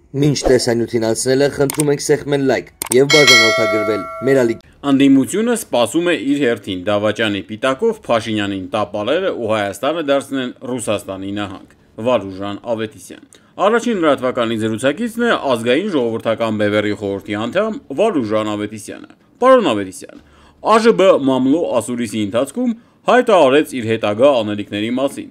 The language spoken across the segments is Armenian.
Մինչ տեսանյութին անցնելը խնդրում ենք սեղմել լայք եւ բաժանորդագրվել մեր ալիք։ Անդիմությունը սպասում է իր հերթին Դավաճանի պիտակով Փաշինյանին տապալելը ու Հայաստանը դարձնեն Ռուսաստանի նահանգ։ Վարուժան Ավետիսյան։ Առաջին լրատվականի զրուցակիցն է ազգային ժողովրդական բևեռի խորհրդի անդամ Վարուժան Ավետիսյանը։ Պարոն Ավետիսյան, ԱԺԲ մամլո ասուլիսի ընթացքում հայտարարեց իր հետագա անելիքների մասին։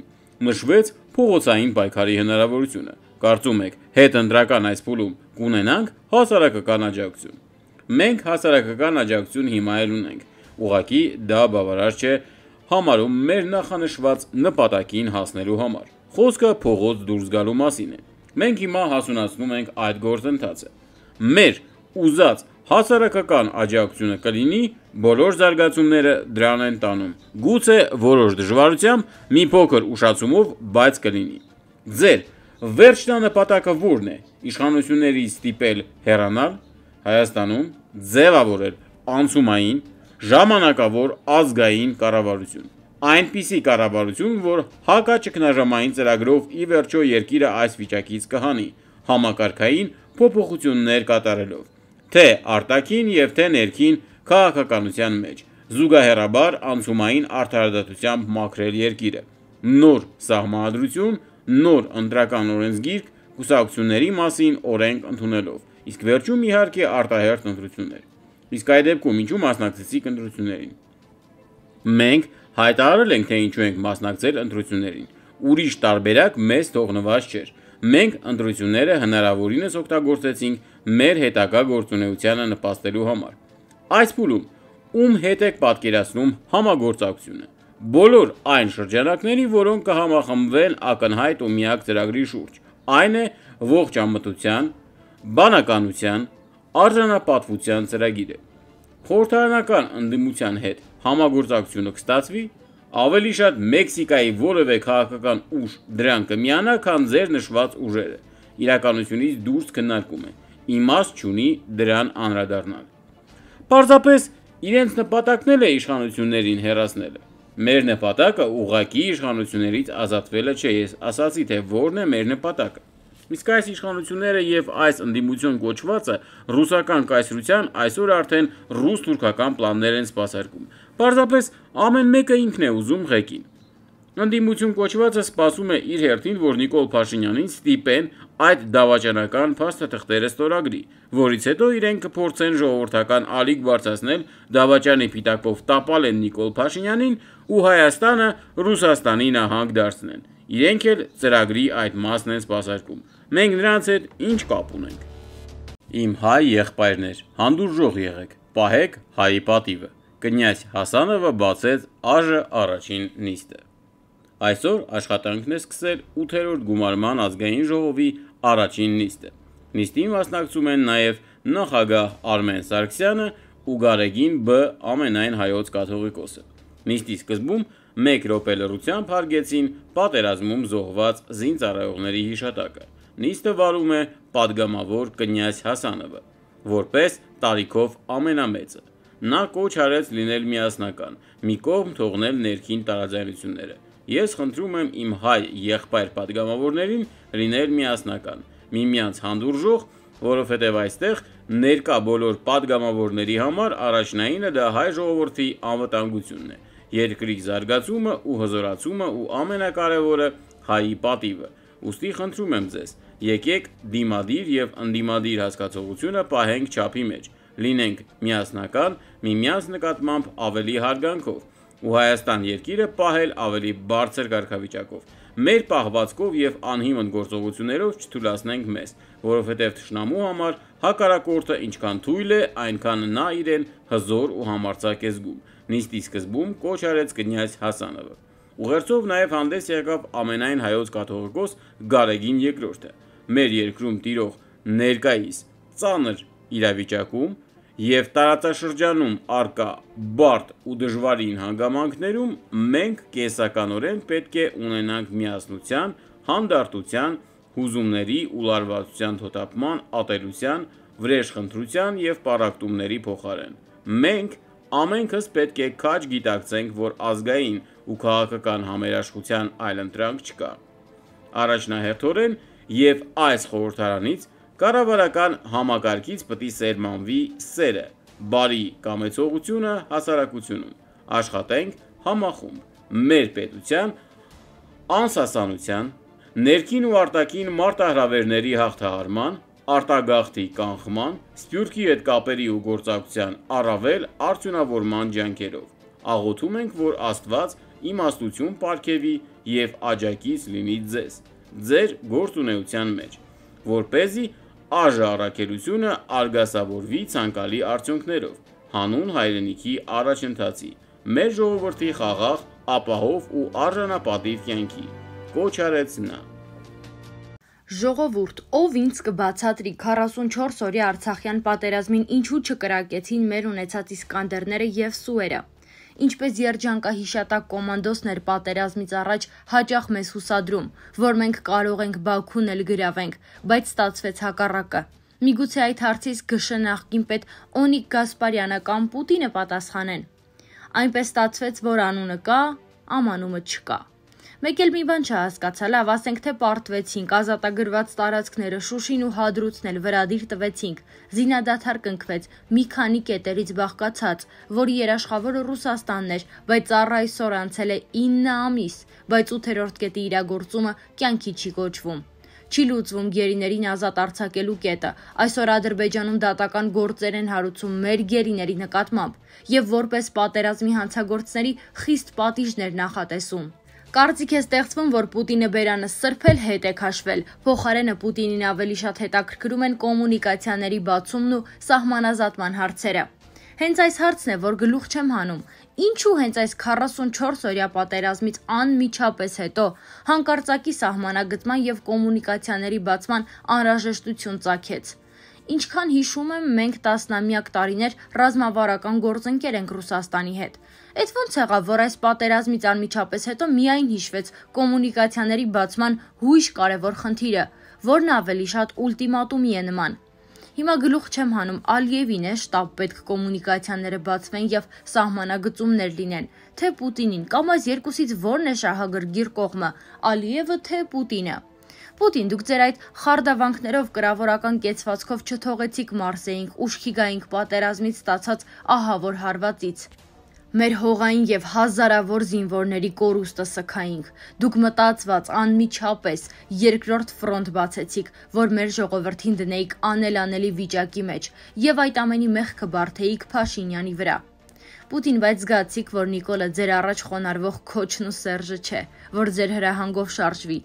Նշվեց փողոցային պայքարի հնարավորությունը։ Կարծում եք, հետընտրական այս փուլում կունենանք հասարակական աջակցություն։ Մենք հասարակական աջակցություն հիմա էլ ունենք, ուղղակի դա բավարար չէ համարում մեր նախանշված նպատակին հասնելու համար։ Խոսքը փողոց դուրս գալու մասին է։ Մենք հիմա հասունացնում ենք այդ գործընթացը։ Մեր ուզած հասարակական աջակցությունը կլինի, բոլոր զարգացումները դրան են տանում։ Գուցե որոշ դժվարությամբ, մի փոքր ուշացումով, բայց կլինի։ Ձեր վերջնանպատակը ո՞րն է։ Իշխանություններից ստիպել հեռանալ Հայաստանում, ձևավորել անցումային, ժամանակավոր ազգային կառավարություն։ Այնպիսի կառավարություն, որ հակաճգնաժամային ծրագրով ի վերջո երկիրը այս վիճակից կհանի, համակարգային փոփոխություններ կատարելով, թե արտաքին եւ թե ներքին քաղաքականության մեջ, զուգահեռաբար անցումային արդարադատությամբ մաքրել երկիրը, նոր սահմանադրություն, նոր ընտրական օրենսգիրք, կուսակցությունների մասին օրենք ընդունելով, իսկ վերջում իհարկե արտահերթ ընտրություններ։ Իսկ այդ դեպքում ինչու մասնակցեցիք ընտրություններին։ Մենք հայտարարել ենք, թե ինչու ենք մասնակցել ընտրություններին։ Ուրիշ տարբերակ մեզ թողնված չէր։ Մենք ընտրությունները հնարավորինս օգտագործեցինք մեր հետագա գործունեությանը նպաստելու համար։ Այս փուլում ում հետ եք պատկերացնում համագործակցությունը։ Բոլոր այն շրջանակների, որոնք կհամախմբվեն ակնհայտ ու միակ ծրագրի շուրջ, այն է ողջ ամբողջության, բանականության, արժանապատվության ծրագիրը։ Խորհրդարանական ընդդիմության հետ համագործակցությունը կստացվի, ավելի շատ Մեքսիկայի որևէ քաղաքական ուժ դրան կմիանա, քան ձեր նշված ուժերը։ Իրականությունից դուրս քննարկում է, իմաստ չունի դրան անդրադառնալ։ Պարզապես իրենց նպատակն էլ է իշխանություններին հեռացնելը։ Մեր նպատակը ուղղակի իշխանություններից ազատվելը չէ, ես ասացի, թե որն է մեր նպատակը։ Իսկ այս իշխանությունները եւ այս ընդդիմություն կոչվածը ռուսական կայսրության այսօր արդեն ռուս-թուրքական պլաններ են սպասարկում։ Պարզապես ամեն մեկը ինքն է ուզում ղեկին։ Ընդդիմություն կոչվածը սպասում է իր հերթին, որ Նիկոլ Փաշինյանին ստիպեն այդ դավաճանական փաստաթղթերը ստորագրի, որից հետո իրենք կփորձեն ժողովրդական ալիք բարձրացնել դավաճանի պիտակով տապալեն Նիկոլ Փաշինյանին ու Հայաստանը Ռուսաստանի նահանգ դարձնեն։ Իրենք էլ ծրագրի այդ մասն են սպասարկում։ Մենք նրանց հետ ինչ կապ ունենք։ Իմ հայ եղբայրներ, հանդուրժող եղեք, պահեք հայի պատիվը։ Կնյազь Հասանովը բացեց ԱԺ առաջին նիստը։ Այսօր աշխատանքն է սկսել 8-րդ գումարման ազգային ժողովի առաջին նիստը։ Նիստին մասնակցում են նաև նախագահ Արմեն Սարգսյանը ու Գարեգին Բ. ամենայն հայոց կաթողիկոսը։ Նիստի սկզբում 1 րոպե լռությամբ հարգեցին պատերազմում զոհված զինծառայողների հիշատակը։ Նիստը վարում է պատգամավոր կնյազь Հասանովը, որպես տարիքով ամենամեծը։ Նա կոչ արեց լինել միասնական, մի կողմ թողնել ներքին տարաձայնությունները։ Ես խնդրում եմ իմ հայ եղբայր պատգամավորներին լինել միասնական, միմյանց հանդուրժող, որովհետև այստեղ ներկա բոլոր պատգամավորների համար առաջնայինը դա հայ ժողովրդի անվտանգությունն է, երկրի զարգացումը ու հզորացումը ու ամենակարևորը հայի պատիվը։ Ուստի խնդրում եմ ձեզ, եկեք դիմադիր եւ ընդդիմադիր հասկացողությունը պահենք չափի մեջ, լինենք միասնական, միմյանց նկատմամբ ավելի հարգանքով ու Հայաստան երկիրը պահել ավելի բարձր կարգավիճակով։ Մեր պահվածքով եւ անհիմն գործողություններով չթուլացնենք մեզ, որովհետեւ թշնամու համար հակառակորդը ինչքան թույլ է, այնքան նա իրեն հզոր ու համարձակ է զգում։ Նիստի սկզբում կոչ արեց կնյազь Հասանովը։ Ուղերձով նաև հանդես եկավ ամենայն հայոց կաթողիկոս Գարեգին II-ը։ Մեր երկրում տիրող ներկայիս ծանր իրավիճակում եւ տարածաշրջանում արկա բարդ ու դժվարին հանգամանքներում մենք կենսականորեն պետք է ունենանք միասնության, հանդարտության, հուզումների ու լարվածության թոթափման, ատելության, վրեժխնդրության եւ պառակտումների փոխարեն։ Մենք ամենքս պետք է քաջ գիտակցենք, որ ազգային ու քաղաքական համերաշխության այլընտրանք չկա։ Առաջնահերթորեն եւ այս խորհրդարանից Կառավարական համակարգից պետք է սերմանվի սերը, բարի կամեցողությունը հասարակությունում, աշխատենք համախումբ, մեր պետության անսասանության, ներքին ու արտաքին մարտահրավերների հաղթահարման, արտագաղթի կանխման, Սփյուռքի հետ կապերի ու գործակցության առավել արդյունավորման ջանքերով։ Աղոթում ենք, որ Աստված իմաստություն պարգևի և աջակից լինի ձեզ, ձեր գործունեության մեջ, որպեսզի արժանապատվությունը արգասավորվի ցանկալի արդյունքներով, հանուն հայրենիքի առաջընթացի, մեր ժողովրդի խաղաղ, ապահով ու արժանապատիվ կյանքի, կոչ արեց նա։ Ժողովուրդ, ով ինձ կբացատրի 44 օրյա Արցախյան պատերազմին ինչու չկրակեցին մեր ունեցած Իսկանդերները և Սուերը։ Ինչպես երջանկահիշատակ կոմանդոսներ պատերազմից առաջ հաճախ մեզ հուսադրում, որ մենք կարող ենք Բաքուն էլ գրավենք, բայց ստացվեց հակառակը։ Միգուցե այդ հարցից ԳՇ նախկին պետ Օնիկ Գասպարյանը կամ Պուտինը պատասխանեն։ Այնպես ստացվեց, որ անունը կա, ամանումը չկա։ Մեկ էլ մի բան չհասկացա, լավ, ասենք թե պարտվեցինք, ազատագրված տարածքները Շուշին ու Հադրութն էլ վրադիր տվեցինք, զինադադար կնքվեց, մի քանի կետերից բաղկացած, որի երաշխավորը Ռուսաստանն էր, բայց առ այսօր անցել է 9 ամիս, բայց 8-րդ կետի իրագործումը կյանքի չի կոչվում։ Չի լուծվում գերիներին ազատ արձակելու կետը, այսօր Ադրբեջանում դատական գործեր են հարուցում մեր գերիների նկատմամբ և որպես պատերազմի հանցագործների խիստ պատիժներ նախատեսում։ Կարծիք է ստեղծվում, որ Պուտինը բերանը սրբել հետ է քաշվել, փոխարենը Պուտինին ավելի շատ հետաքրքրում են կոմունիկացիաների բացումն ու սահմանազատման հարցերը։ Հենց այս հարցն է, որ գլուխ չեմ հանում, ինչու հենց այս 44 օրյա պատերազմից անմիջապես հետո հանկարծակի սահմանագծման և կոմունիկացիաների բացման անհրաժեշտություն ծագեց։ Ինչքան հիշում եմ, մենք տասնամյակ տարիներ ռազմավարական գործընկեր ենք Ռուսաստանի հետ։ Էդ ոնց եղավ, որ այս պատերազմից անմիջապես հետո միայն հիշվեց կոմունիկացիաների բացման հույժ կարևոր խնդիրը, որն ավելի շատ ուլտիմատումի է նման։ Հիմա գլուխ չեմ հանում, Ալիևին է շտապ պետք կոմունիկացիաները բացվեն և սահմանագծումներ լինեն, թե Պուտինին, կամ այս երկուսից որն է շահագրգիռ կողմը, Ալիևը թե Պուտինը։ Պուտին, դուք ձեր այդ խարդավանքներով կրավորական կեցվածքով չթողեցիք Մարսեինք, ուշքի գայինք պատերազմից ստացած ահավոր հարվածից։ Մեր հողային և հազարավոր զինվորների կորուստը սգայինք։ Դուք մտածված անմիջապես երկրորդ ֆրոնտ բացեցիք, որ մեր ժողովրդին դնեիք անելանելի վիճակի մեջ և այդ ամենի մեղքը բարդեիք Փաշինյանի վրա։ Պուտին, բայց զգացիք, որ Նիկոլը ձեր առաջ խոնարհվող Քոչն ու Սերժը չէ, որ ձեր հրահանգով շարժվի։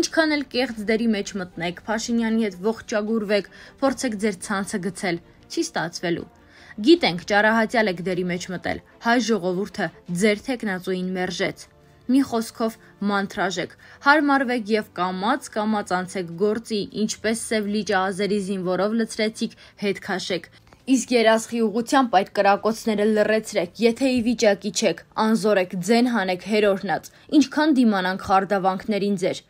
Ինչքան էլ կեղծ դերի մեջ մտնեք, Փաշինյանի հետ ողջագուրվեք, փորձեք ձեր ցանցը գցել, չի ստացվելու։ Գիտենք, ճարահատյալ եք դերի մեջ մտել, հայ ժողովուրդը ձեր թեկնածուին մերժեց։ Մի խոսքով մանթրաժեք, հարմարվեք և կամաց անցեք գործի, ինչպես Սև լիճը ազերի զինվորով լցրեցիք, հետ քաշեք։ Իսկ երասխի ուղղությամբ այդ կրակոցները լռեցրեք, եթե ի վիճակի չեք, անզորեք, ձեն հանեք հերորնած, ինչքան դիմանանք խարդավանքներին ձեր։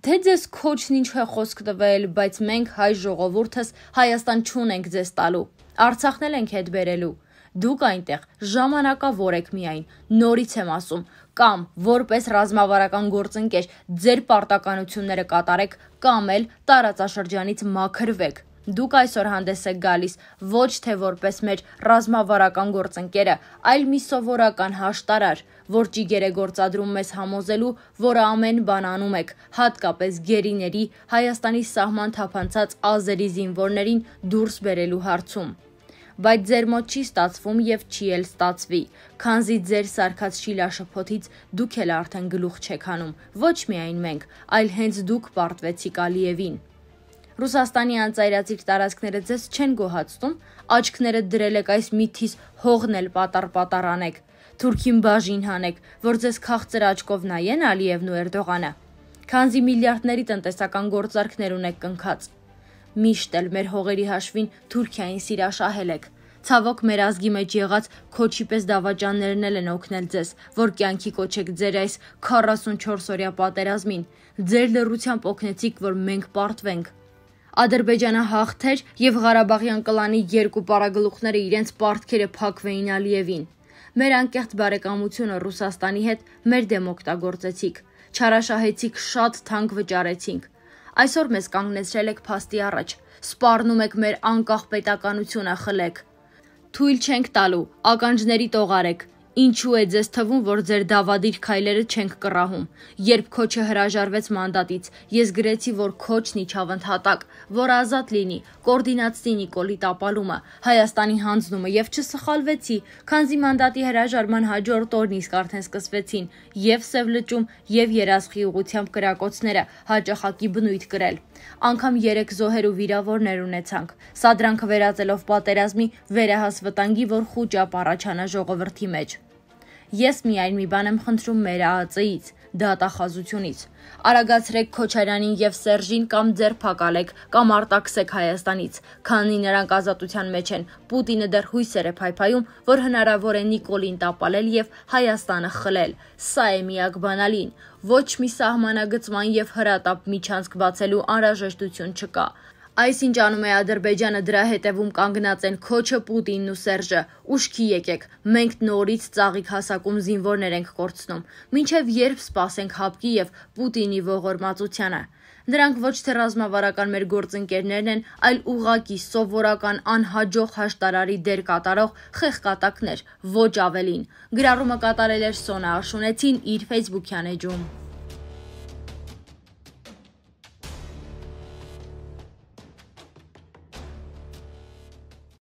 Թե ձեզ Քոչն ինչ է խոսք տվել, բայց մենք հայ ժողովուրդս Հայաստան չունենք ձեզ տալու, Արցախն էլ ենք հետ բերելու։ Դուք այնտեղ ժամանակավոր եք միայն, նորից եմ ասում, կամ որպես ռազմավարական գործընկեր ձեր պարտականությունները կատարեք, կամ էլ տարածաշրջանից մաքրվեք։ Դուք այսօր հանդես եք գալիս ոչ թե որպես մեր ռազմավարական գործընկերը, այլ մի սովորական հաշտարար, որ ճիգեր է գործադրում մեզ համոզելու, որ ամեն բան անում եք, հատկապես գերիների, Հայաստանի սահման թափանցած ազերի զինվորներին դուրս բերելու հարցում։ Բայց ձեր մոտ չի ստացվում և չի էլ ստացվի, քանզի ձեր սարքած շիլաշփոթից դուք էլ արդեն գլուխ չեք հանում, ոչ միայն մենք, այլ հենց դուք պարտվեցիք Ալիևին։ Ռուսաստանի անծայրածիր տարածքները ձեզ չեն գոհացնում, աչքները դրել եք այս միթիս հողն էլ պատառ անեք, Թուրքին բաժին հանեք, որ ձեզ քաղցր աչքով նայեն Ալիևն ու Էրդողանը, քանզի միլիարդների տնտեսական գործարքներ ունեք կնքած։ Միշտ էլ մեր հողերի հաշվին Թուրքիային սիրաշահել եք։ Ցավոք մեր ազգի մեջ եղած Քոչի պես դավաճաններն էլ են օգնել ձեզ, որ կյանքի կոչեք ձեր այս 44 օրյա պատերազմին։ Ձեր լռությամբ օգնեցիք, որ մենք պարտվենք։ Ադրբեջանը հաղթեր և Ղարաբաղյան կլանի երկու պարագլուխները իրենց պարտքերը փակվեին Ալիևին։ Մեր անկեղծ բարեկամությունը Ռուսաստանի հետ մեր դեմ օգտագործեցիք, չարաշահեցիք, շատ թանկ վճարեցինք։ Այսօր մեզ կանգնեցրել եք փաստի առաջ, սպառնում եք մեր անկախ պետականությունը խլեք։ Թույլ չենք տալու, ականջների տողարեք։ Ինչու է ձեզ թվում, որ ձեր դավադիր քայլերը չենք կռահում։ Երբ Քոչը հրաժարվեց մանդատից, ես գրեցի, որ Քոչն իջավ ընդհատակ, որ ազատ լինի, կոորդինացնի Նիկոլի տապալումը, Հայաստանի հանձնումը եւ չսխալվեցի, քանզի մանդատի հրաժարման հաջորդ օրն իսկ արդեն սկսվեցին եւ Սև լճում եւ Երասխի ուղությամբ կրակոցները հաճախակի բնույթ կրել։ Անգամ 3 զոհեր ու վիրավորներ ունեցանք։ Սա դրանքը վերածելով պատերազմի վերահաս վտանգի, որ խուճապ առաջանա ժողովրդի մեջ։ Ես միայն մի բան եմ խնդրում մեր ԱԱԾ-ից, դատախազությունից։ Արագացրեք Քոչարյանին եւ Սերժին կամ ձերբակալեք կամ արտաքսեք Հայաստանից, քանի նրանք ազատության մեջ են։ Պուտինը դեռ հույսեր է փայփայում, որ հնարավոր է Նիկոլին տապալել եւ Հայաստանը խլել։ Սա է միակ բանալին։ Ոչ մի սահմանագծման եւ հրատապ միջանցք բացելու անհրաժեշտություն չկա։ Այսինչ անում է Ադրբեջանը, դրա հետևում կանգնած են Քոչը, Պուտինն ու Սերժը։ Ուշքի եկեք, մենք նորից ծաղիկ հասակում զինվորներ ենք կորցնում։ Մինչև երբ սպասենք հապկի եւ Պուտինի ողորմածությանը։ Դրանք ոչ թե ռազմավարական մեր գործընկերներն են, այլ ուղղակի սովորական անհաջող հաշտարարի դեր կատարող խեղկատակներ, ոչ ավելին։ Գրառումը կատարել էր Սոնա Աշունեցին իր Facebook-յան էջում։